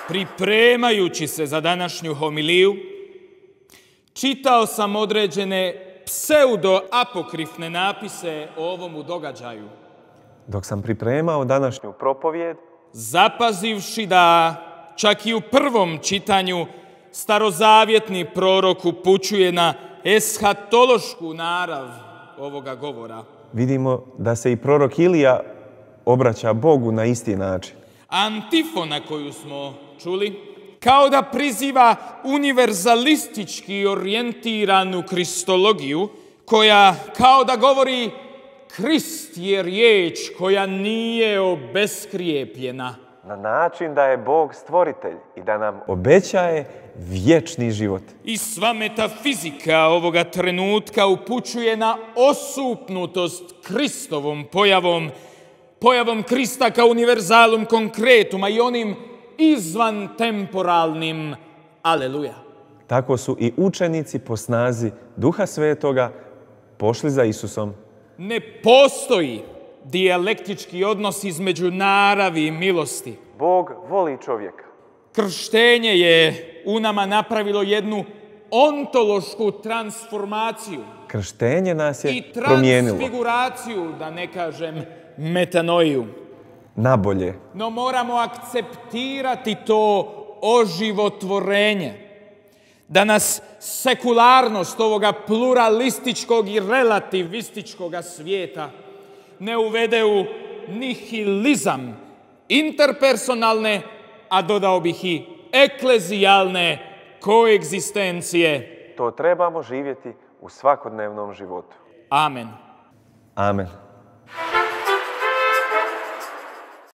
Pripremajući se za današnju homiliju, čitao sam određene pseudo-apokrifne napise o ovomu događaju. Dok sam pripremao današnju propovijed, zapazivši da čak i u prvom čitanju starozavjetni prorok upućuje na eshatološku narav ovoga govora, vidimo da se i prorok Ilija obraća Bogu na isti način. antifona koju smo čuli, kao da priziva univerzalistički orijentiranu kristologiju, koja kao da govori Krist je riječ koja nije obeskrijepljena. Na način da je Bog stvoritelj i da nam obećaje vječni život. I sva metafizika ovoga trenutka upućuje na osupnutost Kristovom pojavom Krista kao univerzalum konkretuma i onim izvan temporalnim aleluja. Tako su i učenici po snazi Duha Svetoga pošli za Isusom. Ne postoji dijalektički odnos između naravi i milosti. Bog voli čovjeka. Krštenje je u nama napravilo jednu ontološku transformaciju. Krštenje nas je i promijenilo. transfiguraciju, da ne kažem metanoiju. Nabolje. No moramo akceptirati to oživotvorenje. Da nas sekularnost ovoga pluralističkog i relativističkog svijeta ne uvede u nihilizam interpersonalne, a dodao bih i eklezijalne koegzistencije. To trebamo živjeti u svakodnevnom životu. Amen. Amen.